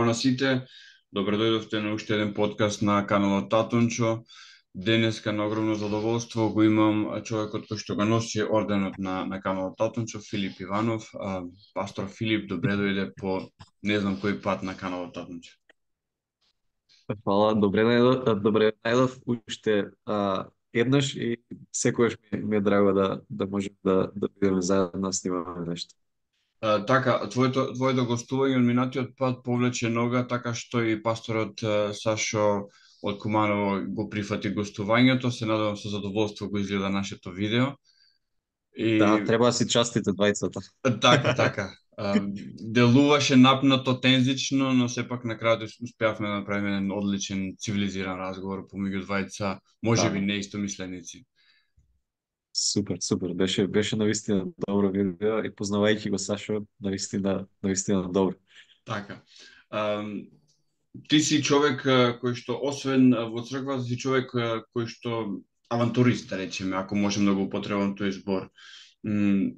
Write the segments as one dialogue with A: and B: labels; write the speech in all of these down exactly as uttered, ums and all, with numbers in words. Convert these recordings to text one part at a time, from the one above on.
A: Здраво на сите, добре дојдовте на уште еден подкаст на каналот Татунчо. Денеска на огромно задоволство го имам човекот кој што го носи орденот на, на каналот Татунчо, Филип Иванов. А, пастор Филип, добре дојде по не знам кој пат на каналот Татунчо.
B: Фала, добре најдов, добре најдов уште а, еднаш и секогаш ми, ми е драго да да можеме да да бидеме заедно да снимаме нешто.
A: А, така, твоето твоето гостување од минатиот пат повлече нога, така што и пасторот а, Сашо од Куманово го прифати гостувањето. Се надевам со задоволство го изгледа нашето видео.
B: Да,
A: И
B: треба да си частите двајцата.
A: така, така. А, делуваше напнато, тензично, но сепак на крајот успеавме да направиме еден одличен цивилизиран разговор помеѓу двајца, можеби
B: Да,
A: неистомисленици.
B: супер, супер. Беше беше навистина добро видео и познавајќи го Сашо, навистина навистина добро.
A: Така. Ам, ти си човек а, кој што освен а, во црквата си човек а, кој што авантурист, да речеме, ако можем да го употребам тој збор. М,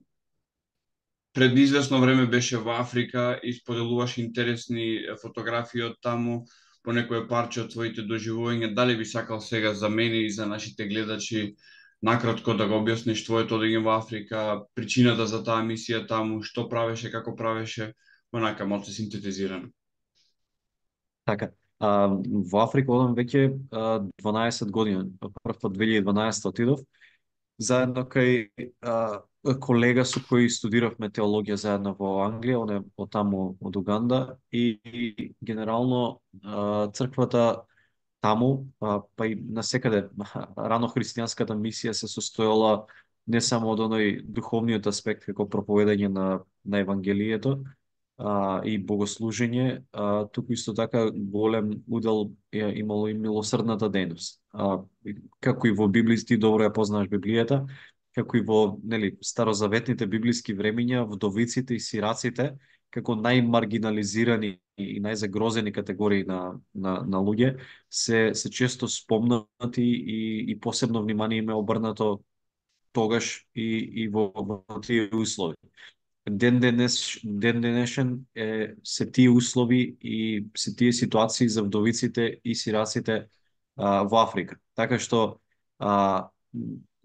A: Пред известно време беше во Африка и споделуваш интересни е, фотографии од таму, по некое парче од твоите доживувања. Дали би сакал сега за мене и за нашите гледачи накратко да го објасниш твоето одење во Африка, причината за таа мисија таму, што правеше, како правеше, онака малку синтетизирано.
B: Така. А, во Африка одам веќе а, дванаесет години. Прв пат две илјади и дванаесета отидов заедно кај а, колега со кој студиравме теологија заедно во Англија, он е од таму од Уганда и, и генерално а, црквата таму, а, па и насекаде рано христијанската мисија се состоела не само од оној духовниот аспект како проповедање на на евангелието, а, и богослужење, а, туку исто така голем удел е имало и милосрдната дејност. А, и како и во Библија, ти добро ја познаваш Библијата, како и во нели старозаветните библиски времиња, вдовиците и сираците како најмаргинализирани и најзагрозени категории на, на, на луѓе се се често спомнати и, и посебно внимание им е обрнато тогаш и, и во, во тие услови. Ден денес, ден денешен е, се тие услови и се тие ситуации за вдовиците и сираците а, во Африка. Така што а,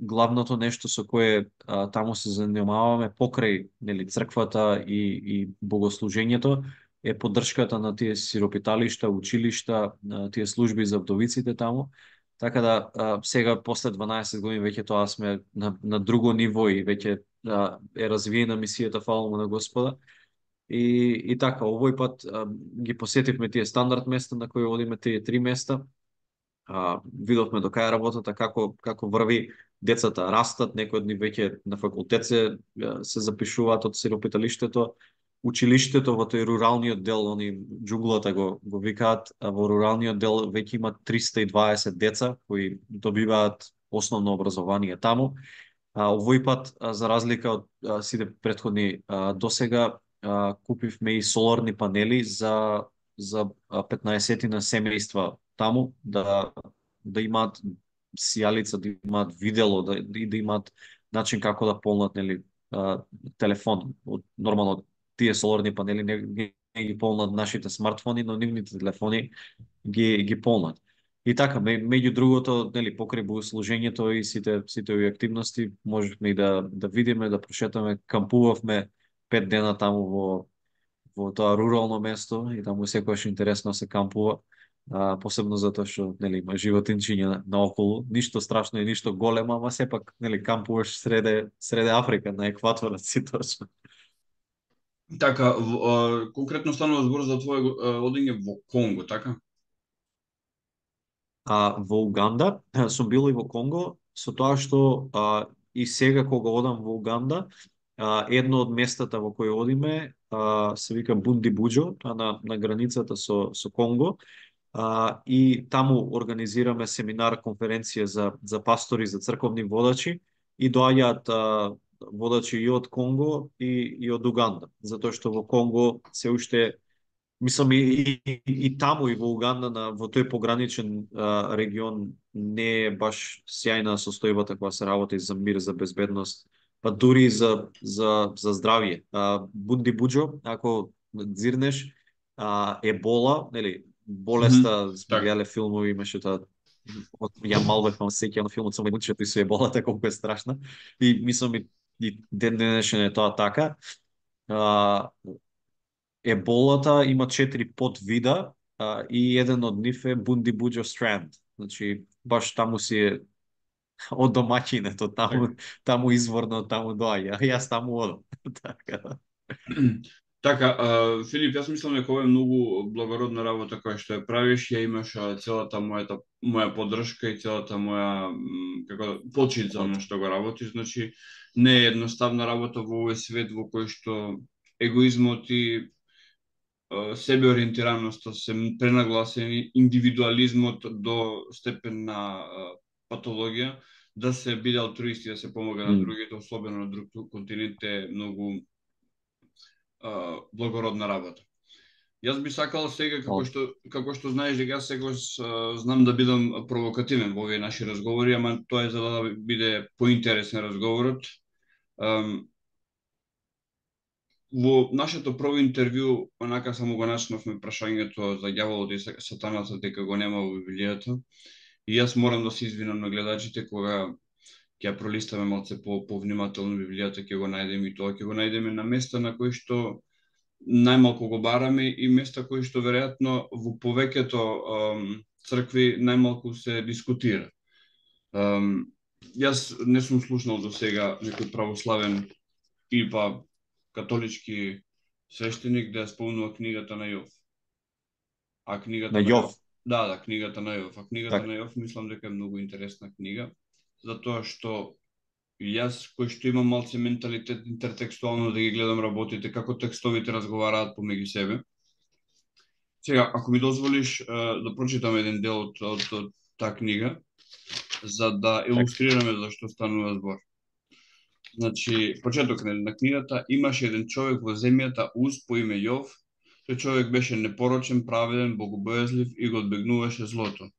B: главното нешто со кое а, таму се занимаваме покрај нели црквата и, и богослужењето е поддршката на тие сиропиталишта, училишта, на тие служби за вдовиците таму. Така да а, сега после дванаесет години веќе тоа сме на, на друго ниво и веќе а, е развиена мисијата, фала му на Господа. И, и така, овој пат а, ги посетивме тие стандард места на кои одиме тие три места. А, видовме до кај работата, како како врви, децата растат, некои од нив веќе на факултет се се запишуваат од сиропиталиштето, училиштето во тој руралниот дел, они џунглата го го викаат, а во руралниот дел веќе има триста и дваесет деца кои добиваат основно образование таму. А, овој пат, а, за разлика од а, сите претходни а, досега, а, купивме и соларни панели за за петнаесет на семејства таму да да имаат сијалица, да имаат видело, да и да имаат начин како да полнат нели а, телефон. Од нормално тие соларни панели не, не, не ги полнат нашите смартфони, но нивните телефони ги ги полнат. И така, ме, меѓу другото, нели покрај богослужењето и сите сите овие активности можевме и да да видиме, да прошетаме, кампувавме пет дена таму во во тоа рурално место и таму секогаш интересно се кампува, а, посебно затоа што нели има животинчиња наоколу, ништо страшно и ништо големо, ама сепак нели кампуваш среде среде Африка на екваторот си точно.
A: Така, в- а, конкретно станува збор за твое а, одење во Конго, така?
B: А во Уганда сум бил и во Конго, со тоа што а, и сега кога одам во Уганда, а, едно од местата во кои одиме а, се вика Бунди Буџо, тоа на, на границата со, со Конго, а, и таму организираме семинар, конференција за, за пастори, за црковни водачи и доаѓаат а, водачи и од Конго и, и од Уганда, затоа што во Конго се уште мислам и, и, и таму и во Уганда на во тој пограничен а, регион не е баш сјајна состојбата кога се работи за мир, за безбедност, па дури и за за за здравје. А, Бунди Буџо, ако дзирнеш, а, ебола, нели,
A: Мгм.
B: болеста, сме
A: Така.
B: гледале филмови, имаше таа од Јан Малбек фам сеќа на филмот со мајмунчето и со еболата колку е страшна. И мислам и, и ден денешен е тоа така. А, еболата има четири подвида а, и еден од нив е Бундибуџо Странд. Значи баш таму си е од домаќинето, таму
A: Така.
B: таму изворно таму доаѓа. Јас таму одам. Така да.
A: Така, а, Филип, јас мислам дека ова е многу благородна работа која што ја правиш, ја имаш а, целата мојата моја поддршка и целата моја м, како да, почит за она што го работиш, значи не е едноставна работа во овој свет во кој што егоизмот и а, себеориентираноста се пренагласени, индивидуализмот до степен на а, патологија, да се биде алтруисти, да се помага на
B: М,
A: другите, особено на друг континент е многу а, благородна работа. Јас би сакал сега, како
B: од-
A: што, како што знаеш дека јас секогаш а, знам да бидам провокативен во овие наши разговори, ама тоа е за да биде поинтересен разговорот. Ам, во нашето прво интервју, онака само го начнавме прашањето за ѓаволот и сатаната дека го нема во Библијата. И јас морам да се извинам на гледачите кога ќе ја пролистаме малце по повнимателно Библијата, ќе го најдеме и тоа ќе го најдеме на места на кои што најмалку го бараме и места кои што веројатно во повеќето ам, цркви најмалку се дискутира. Ам, јас не сум слушнал до сега некој православен или па католички свештеник да ја спомнува книгата на Јов. А
B: На
A: книгата на Јов,
B: Јов.
A: да, да, книгата на Јов. А книгата
B: Така.
A: на Јов мислам дека е многу интересна книга, затоа што јас кој што имам малце менталитет интертекстуално да ги гледам работите, како текстовите разговараат помеѓу себе. Сега, ако ми дозволиш е, да прочитам еден дел од, од, од таа книга, за да
B: Така.
A: илустрираме за што станува збор. Значи, почеток на, на книгата, имаше еден човек во земјата Уз по име Јов. Тој човек беше непорочен, праведен, богобојазлив и го одбегнуваше злото.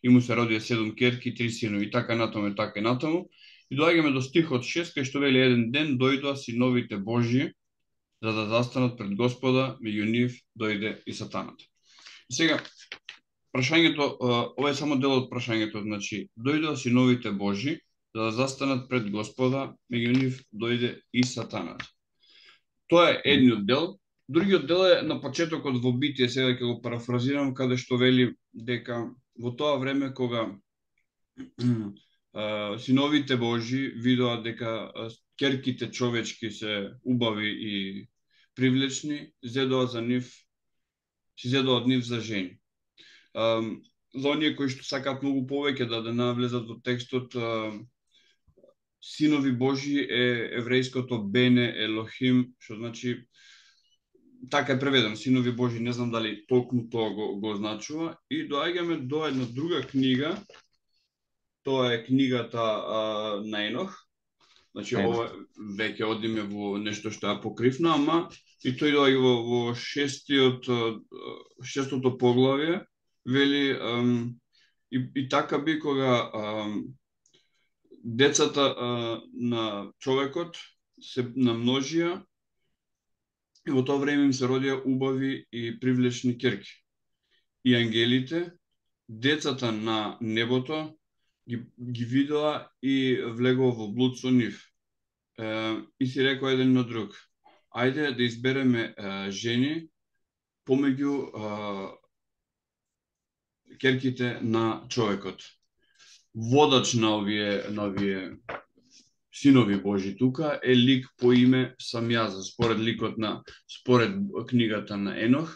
A: И му се родија седум керки и три синови, и така натаму и така и натаму. И доаѓаме до стихот шест, кај што вели еден ден дојдоа синовите Божји за да застанат пред Господа, меѓу нив дојде и сатаната. И сега, прашањето, ова е само дел од прашањето, значи, дојдоа синовите Божи за да застанат пред Господа, меѓу нив дојде и сатаната. Тоа е
B: М,
A: едниот дел. Другиот дел е на почетокот во Битие, сега ќе го парафразирам, каде што вели дека во тоа време кога синовите Божи видоа дека керките човечки се убави и привлечни, зедоа за нив, си зедоа од нив за жени. Um, за оние кои што сакаат многу повеќе да да навлезат во текстот, uh, синови Божи е еврејското Бене Елохим, што значи така е преведено, синови Божи, не знам дали толку тоа го, го означува. И доаѓаме до една друга книга, тоа е книгата uh, на Енох. Значи,
B: Ено.
A: ова веќе одиме во нешто што е покривно, ама и тој доаѓа во, во шестиот, шестото поглавје, вели um, и, и така би кога um, децата uh, на човекот се намножија и во тоа време им се родија убави и привлечни ќерки. И ангелите, децата на небото, ги, ги видоа и влегоа во блуд со нив. Uh, и си рекоа еден на друг, ајде да избереме uh, жени помеѓу uh, керките на човекот. Водач на овие, на овие синови Божи тука е лик по име Самјаза, според ликот на, според книгата на Енох.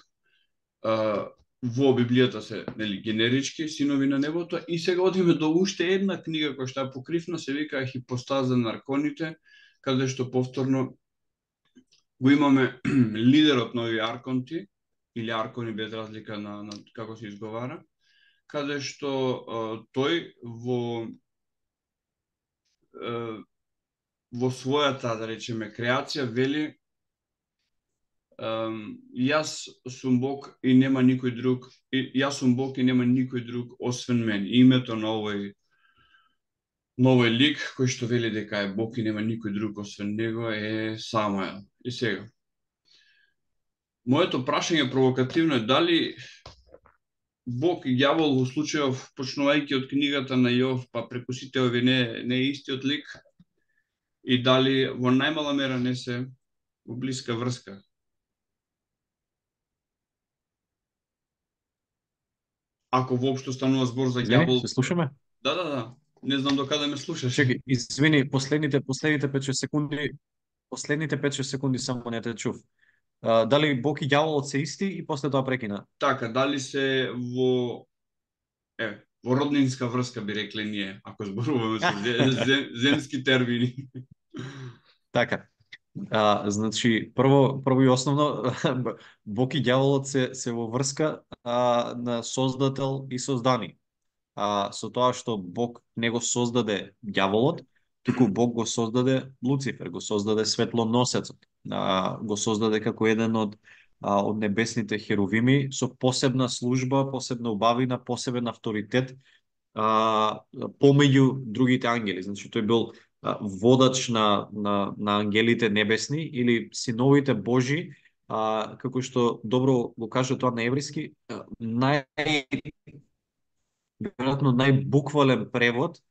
A: Uh, во Библијата се нели, генерички синови на небото и сега одиме до уште една книга која што е покривна, се вика Хипостаза на арконите, каде што повторно го имаме лидерот на овие арконти, или аркони без разлика на, на како се изговара, каде што а, тој во а, во својата, да речеме, креација вели а, јас сум Бог и нема никој друг, и, јас сум Бог и нема никој друг освен мен. Името на овој на овој лик кој што вели дека е Бог и нема никој друг освен него е Самуел. И сега Моето прашање провокативно е дали Бог и ѓавол во случајов, почнувајќи од книгата на Јов, па преку сите овие не, не е истиот лик, и дали во најмала мера не се во блиска врска. Ако воопшто станува збор за
B: Извини,
A: ѓавол.
B: се слушаме?
A: Да, да, да. Не знам до каде ме слушаш.
B: Чекай, извини, последните последните пет-шест секунди, последните пет-шест секунди само не те чув. А, дали Бог и ѓаволот се исти и после тоа прекина?
A: Така, дали се во е, во роднинска врска би рекле ние, ако зборуваме со зем, земски термини.
B: Така. А, значи, прво, прво и основно, Бог и ѓаволот се, се во врска а, на Создател и создани. А, со тоа што Бог не го создаде ѓаволот, туку Бог го создаде Луцифер, го создаде светлоносецот, а, го создаде како еден од а, од небесните херувими со посебна служба, посебна убавина, посебен авторитет а, помеѓу другите ангели. Значи тој бил а, водач на, на, на ангелите небесни или синовите Божи, а, како што добро го каже тоа на еврејски, а, нај веројатно најбуквален превод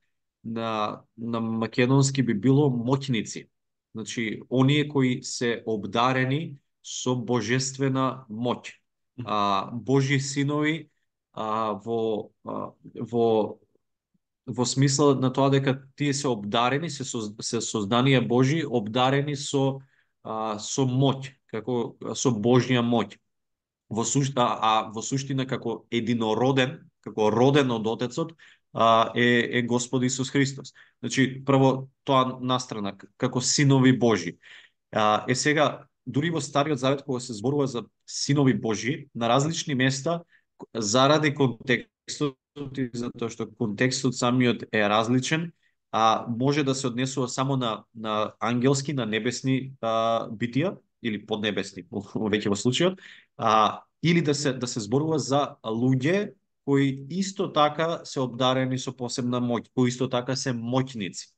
B: на на македонски би било моќници. Значи, оние кои се обдарени со божествена моќ. А, Божји синови а, во а, во во смисла на тоа дека тие се обдарени, се, соз, се созданија Божи, обдарени со а, со моќ, како со Божја моќ. Во сушта, а во суштина како единороден, како роден од Отецот, а, е, е Господ Исус Христос. Значи, прво тоа настрана, како синови Божи. А, е сега, дури во Стариот Завет, кога се зборува за синови Божи, на различни места, заради контекстот и затоа што контекстот самиот е различен, а може да се однесува само на, на ангелски, на небесни а, битија, или поднебесни, веќе во случајот, а, или да се да се зборува за луѓе кои исто така се обдарени со посебна моќ, кои исто така се моќници.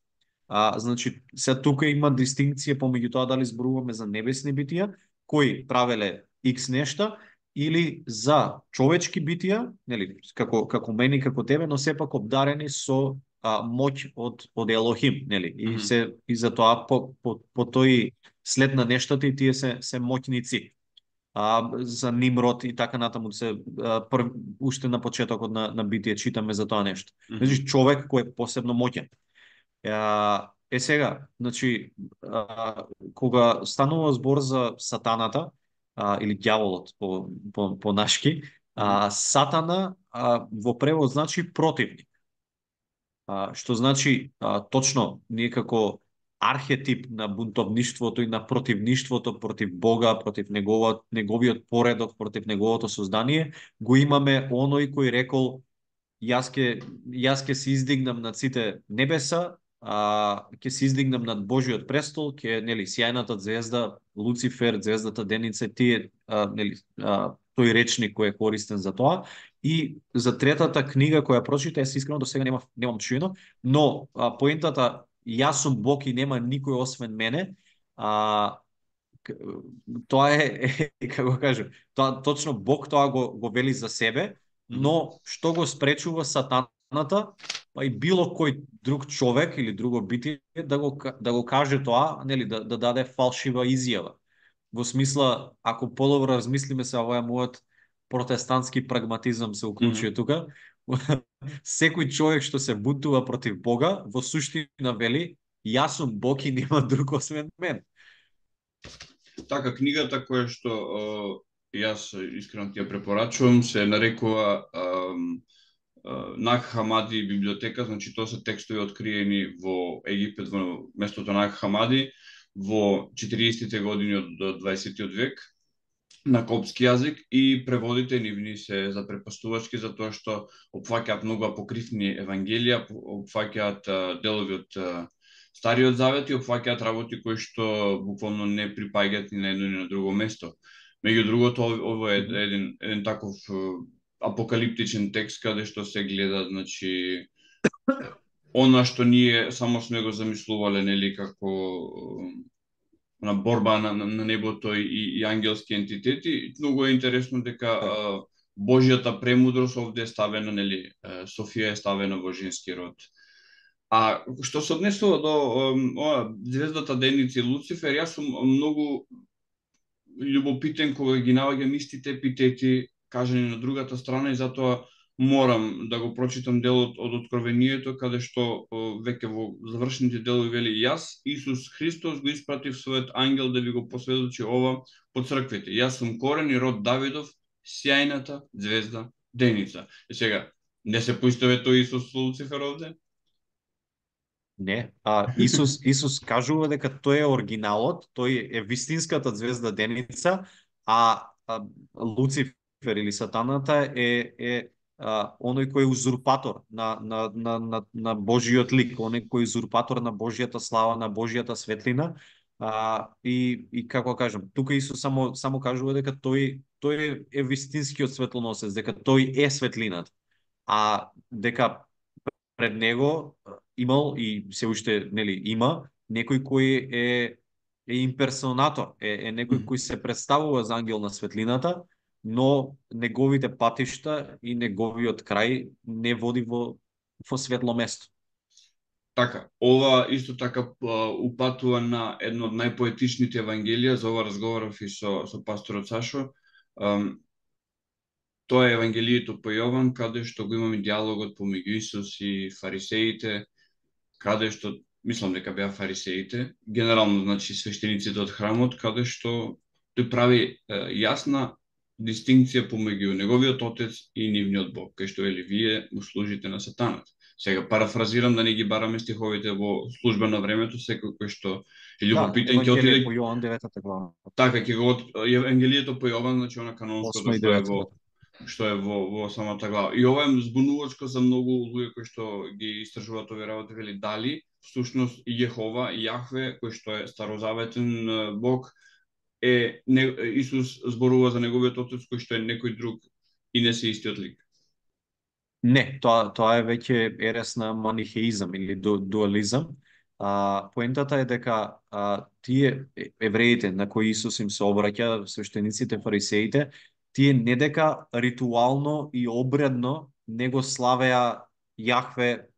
B: А, значи, се тука има дистинкција помеѓу тоа дали зборуваме за небесни битија, кои правеле X нешта, или за човечки битија, нели, како како мене како тебе, но сепак обдарени со а, моќ од од Елохим, нели? И се и за тоа по, по, по тој след на нештата и тие се се моќници. А, за Нимрод и така натаму се а, пр, уште на почетокот на на битие читаме за тоа нешто. Значи човек кој е посебно моќен. Е, сега, значи, а, кога станува збор за сатаната, а, или ѓаволот по, по, по нашки, а, сатана а, во превод значи противник. А, што значи, а, точно, ние како архетип на бунтовништвото и на противништвото против Бога, против неговиот, неговиот поредок, против неговото создание, го имаме оној кој рекол јас ке јас ке се издигнам над сите небеса, а ќе се издигнам над Божиот престол, ќе нели сјајната звезда, Луцифер, звездата Деница, тие а, нели а, тој речник кој е користен за тоа. И за третата книга која прочита, јас искрено до сега немам немам чуено, но а, поентата јас сум Бог и нема никој освен мене, а тоа е, е како кажам, тоа точно Бог тоа го го вели за себе, но што го спречува сатаната, па и било кој друг човек или друго битие да го да го каже тоа, нели да да даде фалшива изјава. Во смисла, ако подобро размислиме се овој мојот протестантски прагматизам се уклучува mm -hmm. тука, секој човек што се бунтува против Бога, во суштина вели јас сум Бог и нема друг освен мен.
A: Така, книгата која што о, јас искрено ти ја препорачувам се нарекува Наг Хамади библиотека, значи тоа се текстови откриени во Египет, во местото Наг Хамади, во четириесеттите години од дваесеттиот век на копски јазик, и преводите нивни се запрепастувачки затоа што опфаќаат многу апокрифни евангелија, опфаќаат делови од Стариот Завет и опфаќаат работи кои што буквално не припаѓаат ни на едно ни на друго место. Меѓу другото, ово е еден, еден таков апокалиптичен текст каде што се гледа, значи, она што ние само сме го замислувале, нели, како на борба на, на, на небото и, и ангелски ентитети. Многу е интересно дека а, Божјата премудрост овде е ставена, нели, Софија е ставена во женски род. А што се однесува до ова звездата Деница и Луцифер, јас сум многу љубопитен кога ги наоѓам истите епитети кажани на другата страна и затоа морам да го прочитам делот од Откровението, каде што веќе во завршените делови вели: јас, Исус Христос, го испратив својот ангел да ви го посведочи ова по црквите. Јас сум корен и род Давидов, сјајната звезда Деница. И сега, не се поистоветува Исус со Луцифер овде?
B: Не, а Исус Исус кажува дека тој е оригиналот, тој е вистинската звезда Деница, а, а Луцифер или сатаната е е а, оној кој е узурпатор на на на на, на Божиот лик, оној кој е узурпатор на Божјата слава, на Божјата светлина. А, и и како кажам, тука Исус само само кажува дека тој тој е вистинскиот светлоносец, дека тој е светлината. А дека пред него имал и се уште, нели, има некој кој е е имперсонатор, е, е некој кој се представува за ангел на светлината, но неговите патишта и неговиот крај не води во во светло место.
A: Така, ова исто така упатува на едно од најпоетичните евангелија, за ова разговарав и со со пасторот Сашо. Um, Тоа е Евангелието по Јован, каде што го имаме диалогот помеѓу Исус и фарисеите, каде што, мислам дека беа фарисеите, генерално, значи, свештениците од храмот, каде што тој прави е, јасна дистинкција помеѓу неговиот отец и нивниот Бог, кај што вели: вие му служите на сатанат. Сега парафразирам да не ги бараме стиховите во служба на времето, секој кој што е љубопитен ќе отиде
B: по Јован деветата глава.
A: Така, ќе го Евангелието по Јован, значи она канонското што е во што е во, во самата глава. И ова е збунувачко за многу луѓе кои што ги истражуваат овие работи, вели дали всушност Јехова, Јахве, кој што е старозаветен Бог, е не, Исус зборува за неговиот отец кој што е некој друг и не се истиот лик.
B: Не, тоа тоа е веќе ерес на манихеизам или ду, дуализам. А, поентата е дека а, тие евреите на кои Исус им се обраќа, свештениците, фарисеите, тие не дека ритуално и обредно не го славеа Јахве,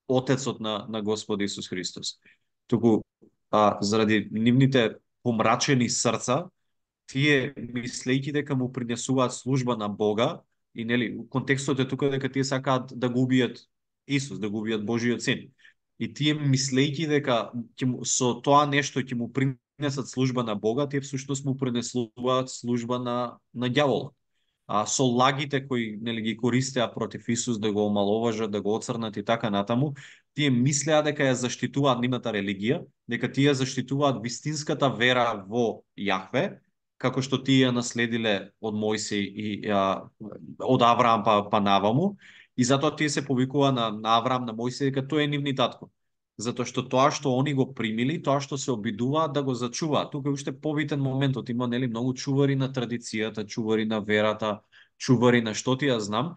B: Отецот на, на Господ Исус Христос. Туку, а, заради нивните помрачени срца, тие, мислејќи дека му принесуваат служба на Бога, и нели, контекстот е тука дека тие сакаат да го убијат Исус, да го убијат Божиот син. И тие, мислејќи дека со тоа нешто ќе му принесат служба на Бога, тие всушност му принесуваат служба на, на ѓаволот. А со лагите кои, нели, ги користеа против Исус да го омаловажат, да го оцрнат и така натаму, тие мислеа дека ја заштитуваат нивната религија, дека тие заштитуваат вистинската вера во Јахве, како што тие ја наследиле од Мојсей и а, од Авраам па, па наваму, и затоа тие се повикува на, на Авраам, на Мојсей, дека тој е нивни татко. Затоа што тоа што они го примили, тоа што се обидуваат да го зачуваат. Тука е уште побитен моментот, има, нели, многу чувари на традицијата, чувари на верата, чувари на што ти ја знам,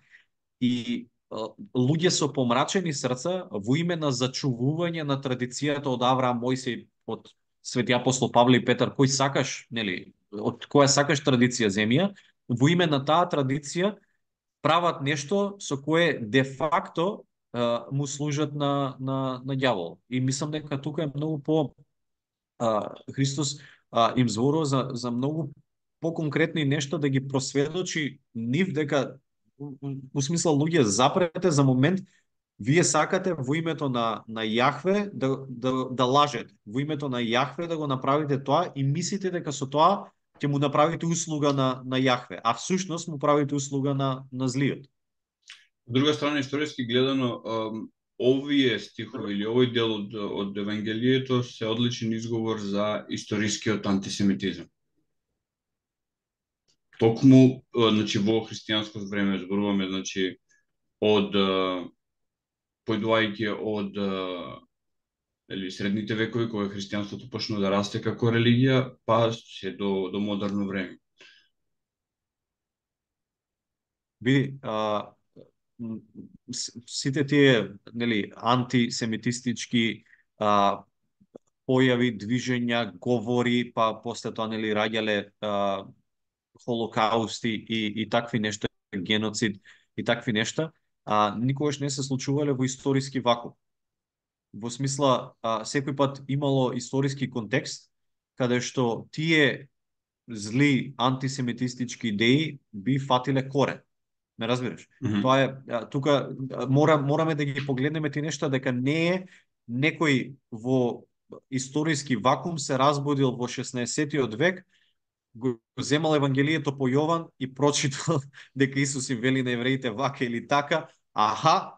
B: и а, луѓе со помрачени срца во име на зачувување на традицијата од Авраам, Мојсей, од Свети апостол Павле и Петар, кој сакаш, нели, од која сакаш традиција земја, во име на таа традиција прават нешто со кое де факто uh, му служат на, на, на ѓавол. И мислам дека тука е многу по... Uh, Христос uh, им зборува за, за многу по-конкретни нешта, да ги просведочи нив дека, во смисла, луѓе, запрете за момент, вие сакате во името на, на Јахве да, да, да лажете, во името на Јахве да го направите тоа и мислите дека со тоа ќе му направите услуга на, на Јахве, а всушност му правите услуга на, на злиот.
A: Од друга страна, историски гледано, овие стихови или овој дел од, од Евангелието се одличен изговор за историскиот антисемитизам. Токму, значи, во христијанско време зборуваме, значи, од појдувајќи од или средните векови, кога христијанството почна да расте како религија, па се до, до модерно време.
B: Би, а, сите тие, нели, антисемитистички а, појави, движења, говори, па после тоа нели раѓале а, холокаусти и, и такви нешта, геноцид и такви нешта, а никогаш не се случувале во историски вакуум. Во смисла, а, секој пат имало историски контекст, каде што тие зли антисемитистички идеи би фатиле корен. Ме разбираш?
A: Mm -hmm.
B: Тоа е, а, тука а, мора, мораме да ги погледнеме ти нешта, дека не е некој во историски вакуум се разбудил во шеснаесеттиот век, го земал Евангелието по Јован и прочитал дека Исус им вели на евреите вака или така, аха,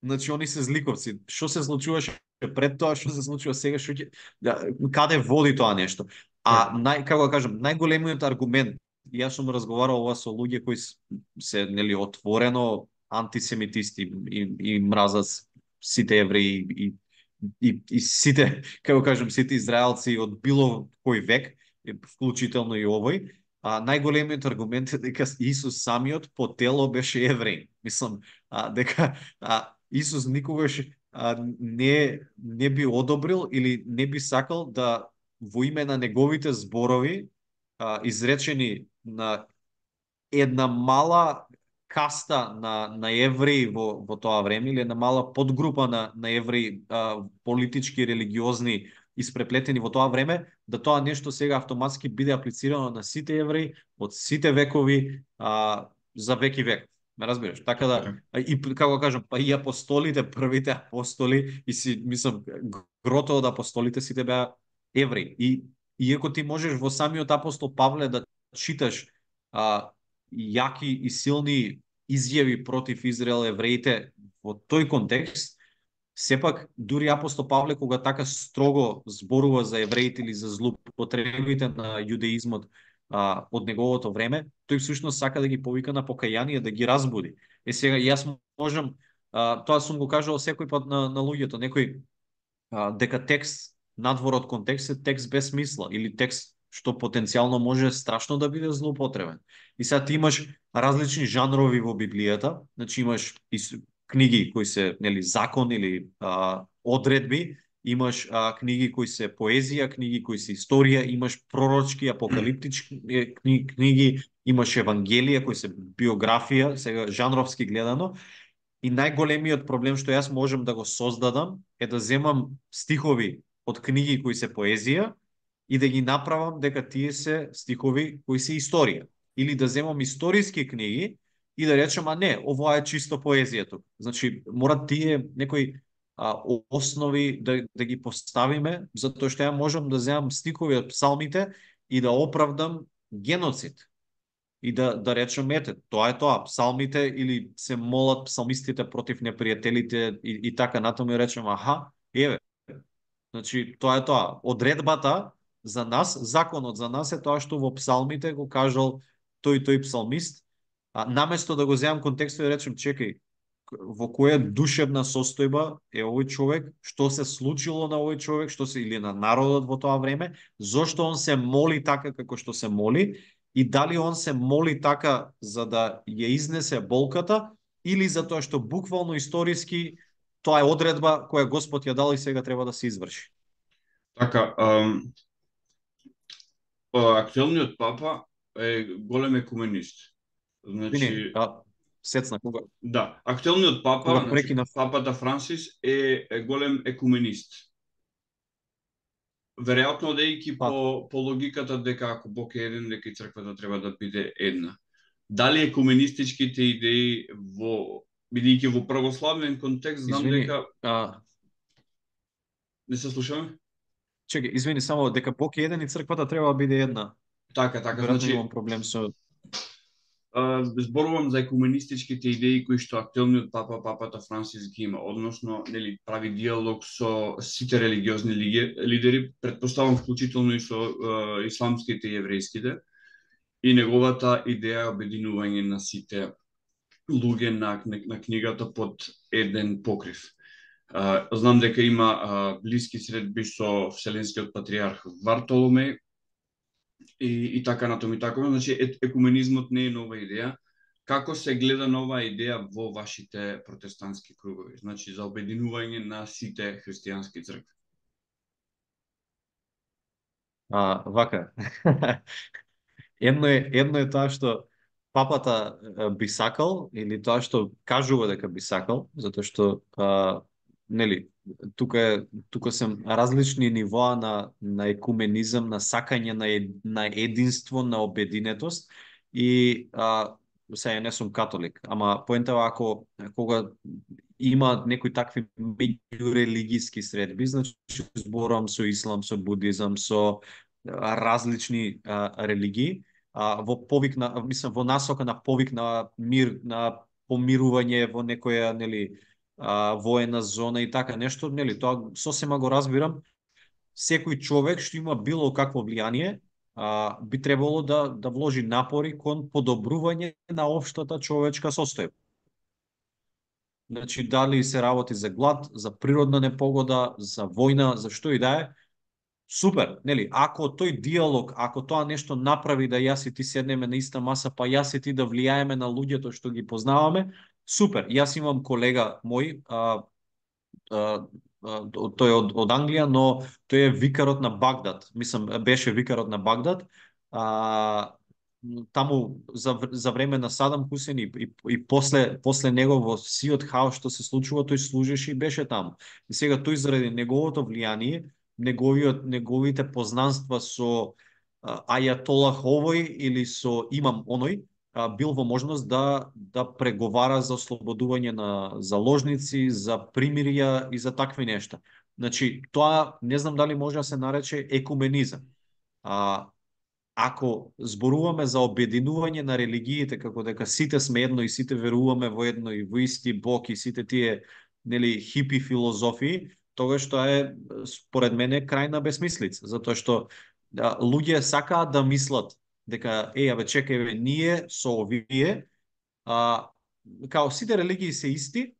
B: значи они се зликовци. Што се случуваше пред тоа, што се случува сега, што ќе да, каде води тоа нешто? А нај како да кажам, најголемиот аргумент, јас сум разговарал ова со луѓе кои се нели отворено антисемитисти и, и мразат сите евреи и, и, и сите, како кажам, сите израелци од било кој век, вклучително и овој, а најголемиот аргумент е дека Исус самиот по тело беше евреин. Мислам, а, дека а, Исус никогаш а, не не би одобрил или не би сакал да во име на неговите зборови а, изречени на една мала каста на, на евреи во, во тоа време, или една мала подгрупа на, на евреи а, политички, религиозни, испреплетени во тоа време, да тоа нешто сега автоматски биде аплицирано на сите евреи од сите векови а, за век и век. Ме разбираш? Така да, и како кажам, па и апостолите, првите апостоли, и си, мислам, грото од апостолите сите беа евреи. И иако ти можеш во самиот апостол Павле да читаш а, јаки и силни изјави против Израел евреите во тој контекст, сепак дури апостол Павле кога така строго зборува за евреите или за злоупотребите на јудеизмот а, од неговото време, тој всушност сака да ги повика на покаяние, да ги разбуди. Е сега јас можам, а, тоа сум го кажал секој пат на, на луѓето, некој а, дека текст надвор од контекст е текст без смисла или текст што потенцијално може страшно да биде злоупотребен. И сега ти имаш различни жанрови во Библијата, значи имаш книги кои се нели закон или а, одредби, имаш а, книги кои се поезија, книги кои се историја, имаш пророчки, апокалиптички книги, книги, имаш евангелија кои се биографија, сега жанровски гледано. И најголемиот проблем што јас можам да го создадам е да земам стихови од книги кои се поезија и да ги направам дека тие се стихови кои се историја. Или да земам историски книги и да речем, а не, ова е чисто поезија тук. Значи, мора тие некои а, основи да, да ги поставиме, затоа што ја можам да земам стихови од псалмите и да оправдам геноцид. И да, да речем, ете, тоа е тоа, псалмите или се молат псалмистите против непријателите и, и така натаму и речем, аха, еве, значи, тоа е тоа. Одредбата за нас, законот за нас е тоа што во псалмите го кажал тој тој псалмист, а наместо да го земам контекстот и да речем, чекај, во која душевна состојба е овој човек, што се случило на овој човек, што се или на народот во тоа време, зошто он се моли така како што се моли, и дали он се моли така за да ја изнесе болката, или затоа што буквално историски тоа е одредба која Господ ја дал и сега треба да се изврши.
A: Така, ам, актуелниот папа е голем екуменист. Значи,
B: а, сецна кога?
A: Да, актуелниот папа,
B: кога
A: значи,
B: прекина...
A: папата Франсис е, е голем екуменист. Веројатно одејќи
B: па.
A: по, по логиката дека ако Бог е еден, дека и црквата треба да биде една. Дали екуменистичките идеи во, бидејќи во православен контекст, знам
B: Извини,
A: дека...
B: А...
A: Не се слушаме?
B: Чекај, извини, само дека Бог е еден и црквата треба да биде една.
A: Така, така,
B: Веројатно
A: значи...
B: имам проблем со...
A: зборувам за екуменистичките идеи кои што актуелниот папа, папата Франсис ги има, односно, нели, прави диалог со сите религиозни лидери, предпоставам вклучително и со uh, исламските и еврејските, и неговата идеја обединување на сите луѓе на, на книгата под еден покрив. Uh, знам дека има uh, блиски средби со Вселенскиот патриарх Вартоломеј, И, и така натаму и така. Значи, екуменизмот не е нова идеја. Како се гледа нова идеја во вашите протестантски кругови? Значи, за обединување на сите христијански цркви.
B: А, вака. Едно е, едно е тоа што папата е, би сакал, или тоа што кажува дека би сакал, затоа што а, нели, тука е тука се различни нивоа на на екуменизам, на сакање на ед, на единство, на обединетост и а, сега не сум католик, ама поентава ако кога има некои такви меѓурелигиски средби, значи зборувам со ислам, со будизам, со а, различни а, религии, а, во повик на, мислам, во насока на повик на мир, на помирување во некоја, нели, а, воена зона и така нешто, нели, тоа сосема го разбирам. Секој човек што има било какво влијание, а, би требало да да вложи напори кон подобрување на општата човечка состојба. Значи, дали се работи за глад, за природна непогода, за војна, за што и да е, супер, нели? Ако тој диалог, ако тоа нешто направи да јас и ти седнеме на иста маса, па јас и ти да влијаеме на луѓето што ги познаваме, супер. Јас имам колега мој, а, а, а, тој е од, од Англија, но тој е викарот на Багдад. Мислам, беше викарот на Багдад. А, таму за, за време на Садам Хусен и, и, и после, после него во сиот хаос што се случува, тој служеше и беше таму. И сега тој заради неговото влијание, неговиот неговите познанства со а, ајатолах овој или со имам оној, а, бил во можност да да преговара за ослободување на заложници, за примирија и за такви нешта. Значи, тоа не знам дали може да се нарече екуменизам. А, ако зборуваме за обединување на религиите, како дека сите сме едно и сите веруваме во едно и во исти Бог и сите тие, нели, хипи филозофии, тогаш тоа е според мене крајна бесмислица, затоа што да, луѓе сакаат да мислат дека е, абе чекај, бе, ние со овие, а, као сите религии се исти,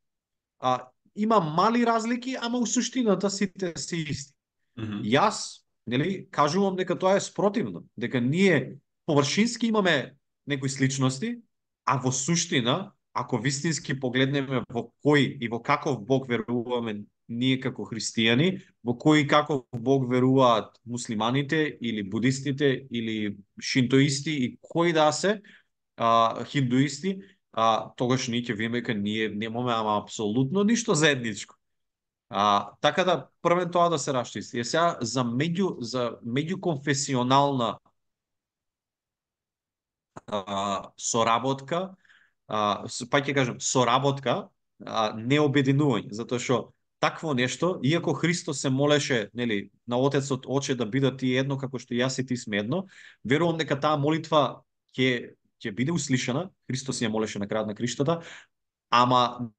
B: а има мали разлики, ама у суштината сите се исти.
A: Мгм.
B: Јас, нели, кажувам дека тоа е спротивно, дека ние површински имаме некои сличности, а во суштина, ако вистински погледнеме во кој и во каков Бог веруваме ние како христијани, во кој и каков Бог веруваат муслиманите или будистите или шинтоисти и кои да се, а, хиндуисти, а, тогаш ние ќе видиме дека ние немаме ама апсолутно ништо заедничко. А, така да првен тоа да се расчисти. Е сега за меѓу за меѓуконфесионална а, соработка, а, с- па ќе кажам соработка, а, не обединување, затоа што такво нешто, иако Христос се молеше, нели, на Отецот, Оче, да бидат ти едно како што јас и ти сме едно, верувам дека таа молитва ќе ќе биде услишана. Христос ја молеше на крајот на криштата, ама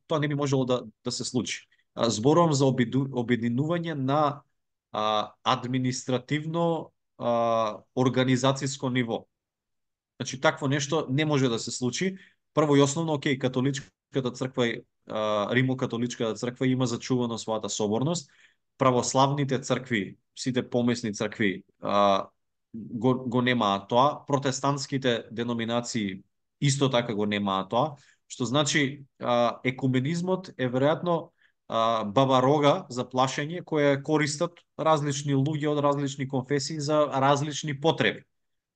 B: тоа не би можело да, да се случи. А, Зборувам за обиду, обединување на а, административно а, организацијско ниво. Значи, такво нешто не може да се случи. Прво и основно, окей, католичката црква, а, Римо-католичката црква има зачувано својата соборност. Православните цркви, сите помесни цркви, а, го, го немаат тоа. Протестантските деноминации исто така го немаат тоа. Што значи, а, екуменизмот е веројатно а, баба рога за плашење која користат различни луѓе од различни конфесии за различни потреби.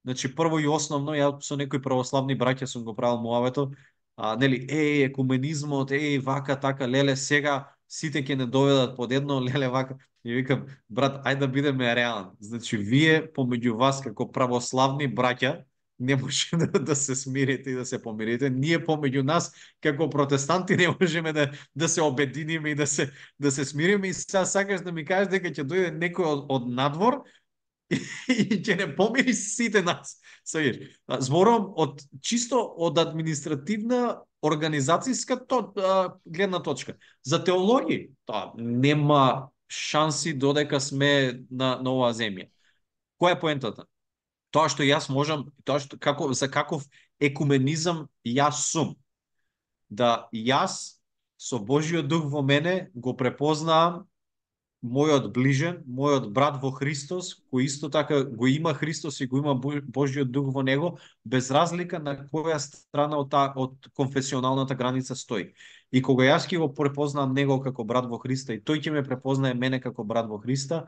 B: Значи, прво и основно, ја со некои православни браќа сум го правил муавето, а, нели, е, екуменизмот, е, вака, така, леле, сега сите ќе не доведат под едно, леле, вака. И викам, брат, ајде да бидеме реални. Значи, вие, помеѓу вас, како православни браќа, не може да, да се смирите и да се помирите. Ние помеѓу нас, како протестанти, не можеме да, да се обединиме и да се, да се смириме. И сега сакаш да ми кажеш дека ќе дојде некој од, од надвор и ќе не помири сите нас. Сеиш, зборувам од чисто од административна организацијска то, а, гледна точка. За теологија, тоа нема шанси додека сме на, на оваа земја. Која е поентата? Тоа што јас можам, тоа што како за каков екуменизам јас сум. Да јас со Божиот дух во мене го препознавам мојот ближен, мојот брат во Христос, кој исто така го има Христос и го има Божјиот дух во него, без разлика на која страна од, та, од конфесионалната граница стои. И кога јас ќе го препознам него како брат во Христа и тој ќе ме препознае мене како брат во Христа,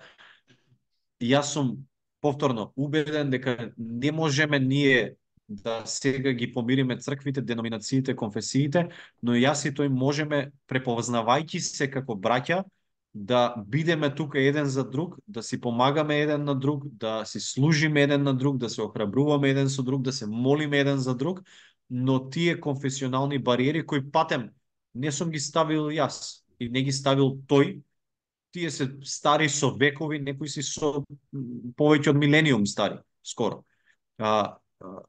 B: јас сум повторно убеден дека не можеме ние да сега ги помириме црквите, деноминациите, конфесиите, но јас и тој можеме, препознавајќи се како браќа, да бидеме тука еден за друг, да си помагаме еден на друг, да си служиме еден на друг, да се охрабруваме еден со друг, да се молиме еден за друг, но тие конфесионални бариери кои патем не сум ги ставил јас и не ги ставил тој, тие се стари со векови, некои си со повеќе од милениум стари, скоро. А,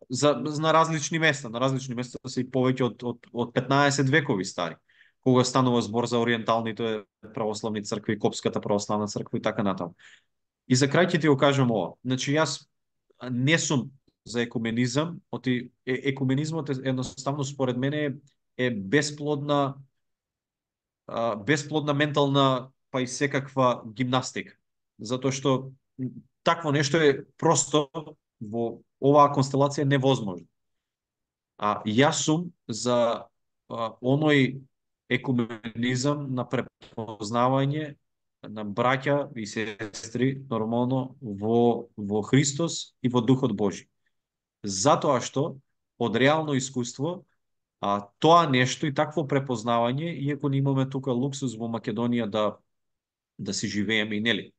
B: за, на различни места, на различни места се и повеќе од, од, од петнаесет векови стари, кога станува збор за ориенталните православни цркви, Копската православна црква и така натаму. И за крај ќе ти го кажам ова. Значи, јас не сум за екуменизам, оти екуменизмот е едноставно според мене е бесплодна бесплодна ментална па и секаква гимнастика. Затоа што такво нешто е просто во оваа констелација невозможно. А јас сум за а, оној екуменизам на препознавање на браќа и сестри нормално во во Христос и во Духот Божи. Затоа што од реално искуство а тоа нешто и такво препознавање, иако не имаме тука луксус во Македонија да да си живееме и нели,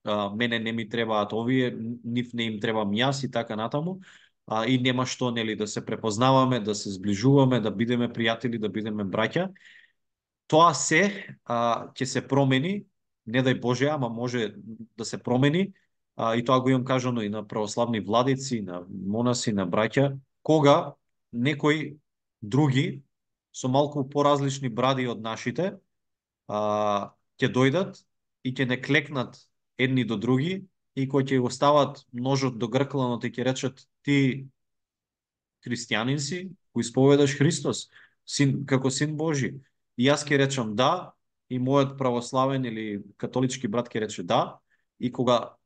B: а, мене не ми требаат овие, нив не им требам јас и така натаму, а, и нема што нели да се препознаваме, да се зближуваме, да бидеме пријатели, да бидеме браќа. Тоа се а, ќе се промени, не дај Боже, ама може да се промени, а, и тоа го имам кажано и на православни владици, на монаси, на браќа, кога некои други со малку поразлични бради од нашите а, ќе дојдат и ќе не клекнат едни до други и кои ќе го стават ножот до гркланот и ќе речат ти христијанин си, кој исповедаш Христос, син како син Божи. И јас ќе речам да, и мојот православен или католички брат ќе рече да, и кога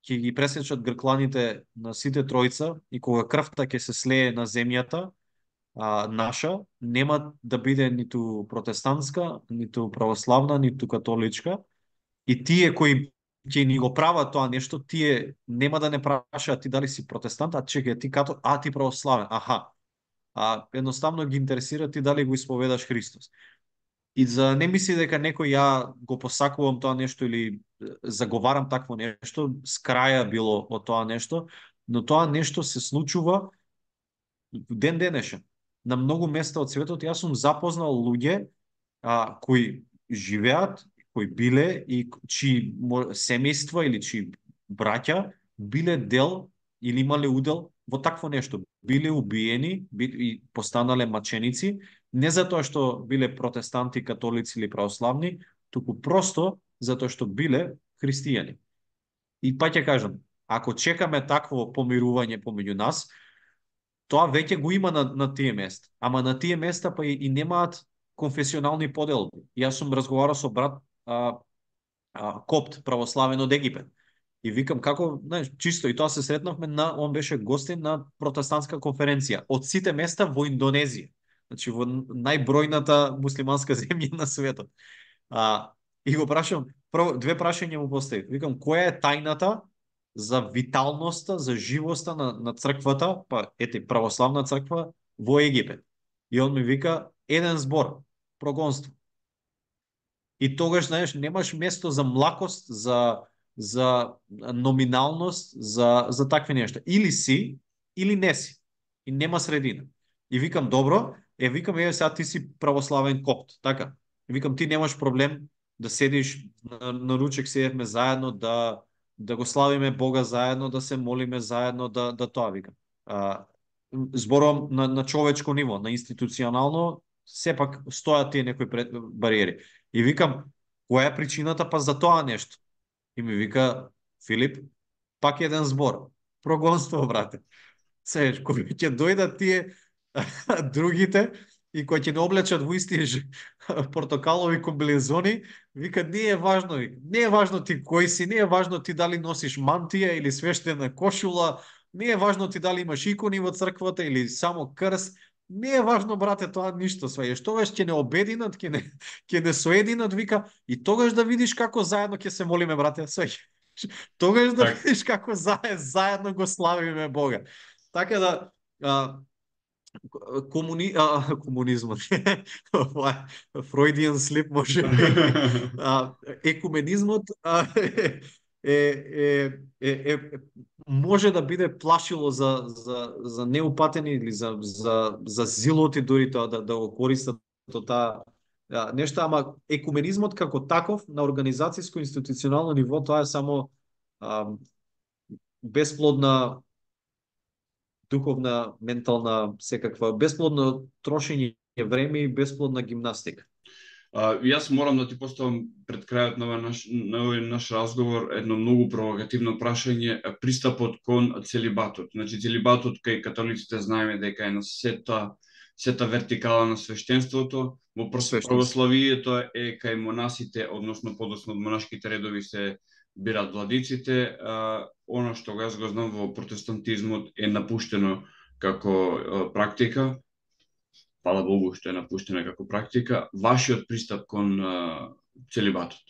B: ќе ги пресечат гркланите на сите тројца и кога крвта ќе се слее на земјата, а, наша, нема да биде ниту протестантска, ниту православна, ниту католичка. И тие кои ќе ни го прават тоа нешто, тие нема да не прашаат ти дали си протестант, а чекај ти като, а ти православен, аха. А едноставно ги интересира ти дали го исповедаш Христос. И за не мисли дека некој ја го посакувам тоа нешто или заговарам такво нешто, с краја било од тоа нешто, но тоа нешто се случува ден денешен. На многу места од светот јас сум запознал луѓе а, кои живеат, кои биле и чии семејства или чии браќа биле дел или имале удел во такво нешто. Биле убиени и постанале маченици, не затоа што биле протестанти, католици или православни, туку просто затоа што биле христијани. И па ќе кажам, ако чекаме такво помирување помеѓу нас, тоа веќе го има на, на тие места. Ама на тие места па и, и немаат конфесионални поделби. Јас сум разговарал со брат а, а, копт православен од Египет. И викам како, знаеш, чисто и тоа се сретнавме на, он беше гостин на протестантска конференција од сите места во Индонезија. Значи во најбројната муслиманска земја на светот. А, и го прашам, прво две прашања му поставив. Викам која е тајната за виталноста, за живоста на, на црквата, па ете православна црква во Египет. И он ми вика еден збор, прогонство. И тогаш, знаеш, немаш место за млакост, за за номиналност, за за такви нешта. Или си, или не си. И нема средина. И викам добро, е викам еве сега ти си православен копт, така. И викам ти немаш проблем да седиш на, на ручек седевме заедно, да да го славиме Бога заедно, да се молиме заедно, да да тоа викам. А, зборувам на, на човечко ниво, на институционално, сепак стојат тие некои пред, бариери. И викам, која е причината па за тоа нешто? И ми вика, Филип, пак еден збор. Прогонство, брате. Се, кој ќе дојдат тие другите, и кои ќе не облечат во исти ж- портокалови комбинезони, вика не е важно, не е важно ти кој си, не е важно ти дали носиш мантија или свештена кошула, не е важно ти дали имаш икони во црквата или само крст. Не е важно, брате, тоа ништо сваѓаш. Тогаш ќе не обединат, ќе не ќе не соединат, вика, и тогаш да видиш како заедно ќе се молиме, брате, сваѓаш. Тогаш да
A: Так.
B: видиш како заедно, заедно го славиме Бога. Така да, а, комуни... а, комунизмот. Ова е Freudian slip може би. А, екуменизмот а, е, е, е, е, е, може да биде плашило за, за, за неупатени или за, за, за зилоти дури тоа да, да го користат то таа а, нешто, ама екуменизмот како таков на организацијско институционално ниво тоа е само а, бесплодна духовна, ментална, секаква, бесплодно трошење време и бесплодна гимнастика.
A: А, јас морам да ти поставам пред крајот на овој наш, на овој наш разговор едно многу провокативно прашање, а, пристапот кон целибатот. Значи, целибатот кај католиците знаеме дека е на сета, сета вертикала на свештенството, во прос-
B: Свештенство.
A: православието е кај монасите, односно подоцна од монашките редови се бират владиците. А, оно што јас го знам во протестантизмот е напуштено како а, практика. Фала Богу што е напуштена како практика. Вашиот пристап кон а, целибатот?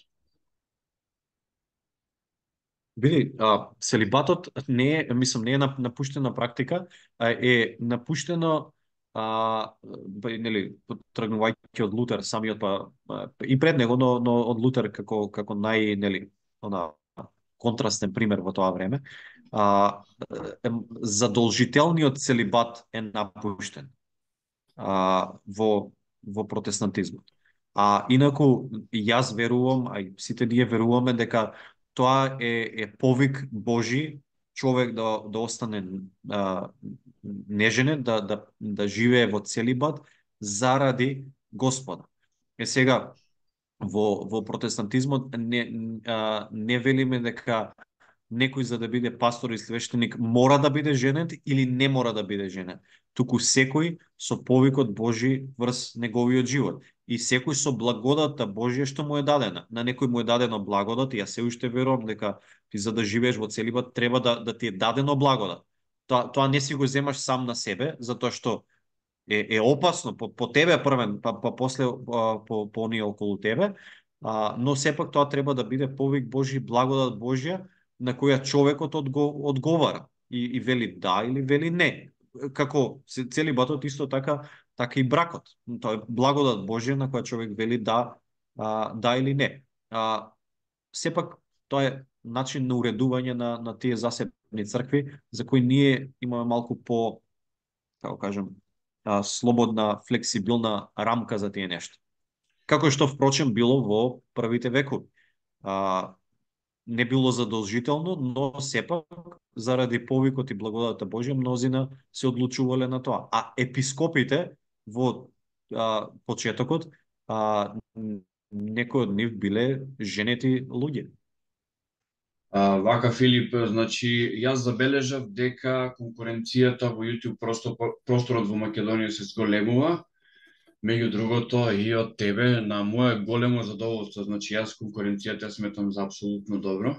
B: Види, а, целибатот не е, мислам, не е нап- напуштена практика, а е напуштено а, па, нели, тргнувајќи од Лутер самиот, па, а, и пред него, но, но од Лутер како како нај, нели, она контрастен пример во тоа време. А, е, задолжителниот целибат е напуштен а, во во протестантизмот. А инаку јас верувам, а и сите ние веруваме дека тоа е, е повик Божи човек да да остане а, неженет, да да да живее во целибат заради Господа. Е сега во во протестантизмот не а, не велиме дека некој за да биде пастор и свештеник мора да биде женет или не мора да биде женет. Туку секој со повикот Божи врз неговиот живот. И секој со благодата Божја што му е дадена. На некој му е дадено благодат и јас се уште верувам дека ти за да живееш во целибат треба да, да ти е дадено благодат. Тоа, тоа не си го земаш сам на себе, затоа што е, е опасно по, по тебе првен, па, па после а, по, по оние околу тебе, а, но сепак тоа треба да биде повик Божи, благодат Божја, на која човекот одго, одговара и, и вели да или вели не. Како се- целибатот исто така, така и бракот. Тоа е благодат Божја на која човек вели да, а, да или не. А, сепак тоа е начин на уредување на, на тие засебни цркви, за кои ние имаме малку по, како кажем, а, слободна, флексибилна рамка за тие нешта. Како што впрочем било во првите векови. А, не било задолжително, но сепак заради повикот и благодата Божја мнозина се одлучувале на тоа. А епископите во а, почетокот а, некои од нив биле женети луѓе.
A: А, вака, Филип, значи, јас забележав дека конкуренцијата во YouTube просто, просторот во Македонија се зголемува. Меѓу другото, и од тебе, на мое големо задоволство, значи, јас конкуренцијата сметам за апсолутно добро.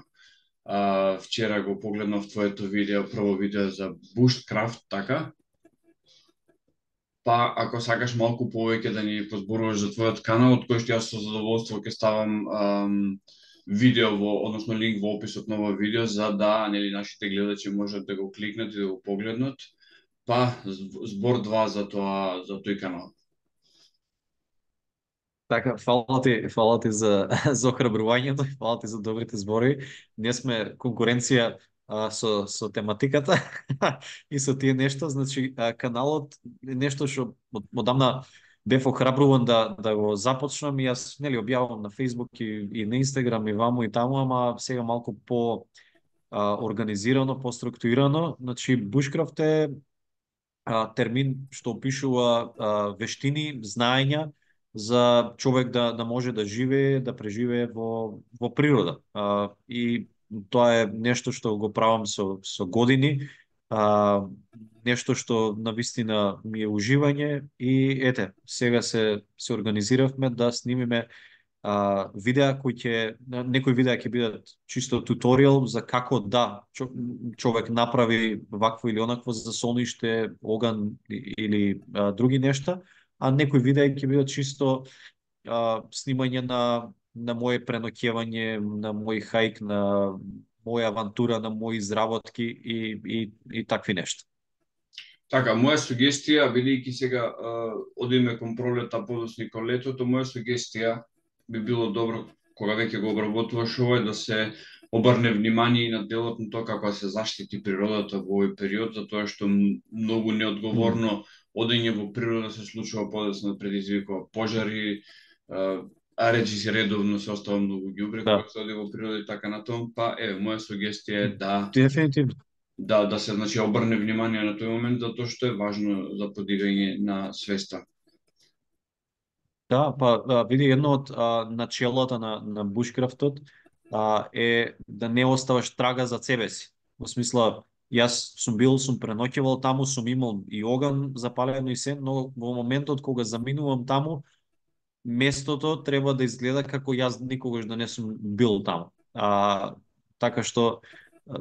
A: А, вчера го погледнав твоето видео, прво видео за Bushcraft, така? Па, ако сакаш малку повеќе да ни позборуваш за твојот канал, од кој што јас со задоволство ќе ставам ам, видео во, односно линк во описот на овој видео, за да, нели, нашите гледачи можат да го кликнат и да го погледнат. Па, збор два за тоа, за тој канал.
B: Така, фала ти, фала ти за, за охрабрувањето, фала ти за добрите збори. Не сме конкуренција а, со, со тематиката и со тие нешто. Значи, а, каналот е нешто што од- одамна бев охрабруван да, да го започнам и јас нели објавувам на Facebook и, и на Instagram и ваму и таму, ама сега малку по а, организирано, по структурирано. Значи, Bushcraft е а, термин што опишува а, вештини, знаења за човек да, да може да живее, да преживее во, во природа. А, и тоа е нешто што го правам со, со години. А, нешто што навистина ми е уживање и ете, сега се се организиравме да снимиме а, видеа кои ќе некои видеа ќе бидат чисто туторијал за како да чо, човек направи вакво или онакво за солниште, оган или а, други нешта, а некои видеа ќе бидат чисто а, снимање на на моje преноќевање, на мој хајк, на моја авантура, на мои изработки и и и такви нешта.
A: Така, моја сугестија, бидејќи сега а, одиме кон пролета, подоцна кон летото, моја сугестија би било добро кога веќе го обработуваш ова да се обрне внимание и на делот на тоа како се заштити природата во овој период, затоа што многу неодговорно одење во природа се случува подоцна, предизвикува пожари, а речи се редовно се остава многу ѓубре
B: Да.
A: кога се оди во природа и така натаму, па еве моја сугестија е да
B: Дефинитивно.
A: да да се значи обрне внимание на тој момент затоа што е важно за подигање на свеста.
B: Да, па а, види едно од а, начелата на на бушкрафтот а, е да не оставаш трага за себе си. Во смисла, јас сум бил, сум преноќевал таму, сум имал и оган запалено и се, но во моментот кога заминувам таму, местото треба да изгледа како јас никогаш да не сум бил таму. А, така што а,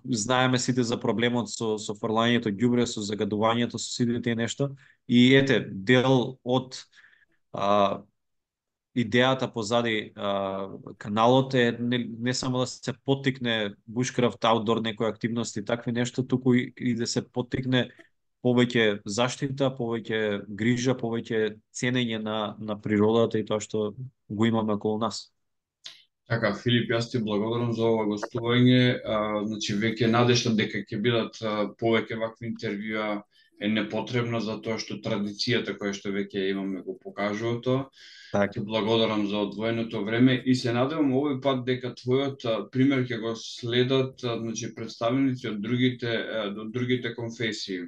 B: знаеме сите за проблемот со со фрлањето ѓубре, со загадувањето, со сите тие нешта и ете дел од а, идејата позади а, каналот е не, не само да се поттикне бушкрафт, аутдор некои активности и такви нешта, туку и, и да се поттикне повеќе заштита, повеќе грижа, повеќе ценење на на природата и тоа што го имаме околу нас.
A: Така, Филип, јас ти благодарам за ова гостување. А, значи, веќе надежда дека ќе бидат а, повеќе вакви интервјуа е непотребна, затоа што традицијата која што веќе имаме го покажува тоа.
B: Така.
A: Ти благодарам за одвоеното време и се надевам овој пат дека твојот а, пример ќе го следат а, значи, представници од другите, а, од другите конфесии.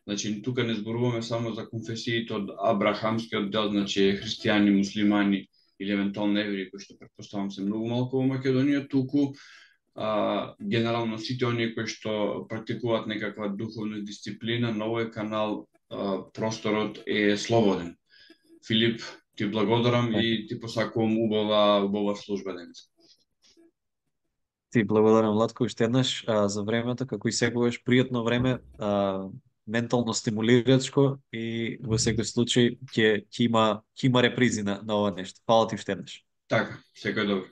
A: Значи, тука не зборуваме само за конфесиите од абрахамскиот дел, значи христијани, муслимани или евентуално евреи, кои што претпоставам се многу малку во Македонија, туку а, генерално сите оние кои што практикуваат некаква духовна дисциплина, на овој канал а, просторот е слободен. Филип, ти благодарам и ти посакувам убава, убава служба денес.
B: Ти благодарам, Владко, уште еднаш а, за времето, како и секогаш пријатно време, а, ментално стимулирачко и во секој случај ќе ќе има ќе има репризи на, на ова нешто. Фала ти уште еднаш.
A: Така, секој добро.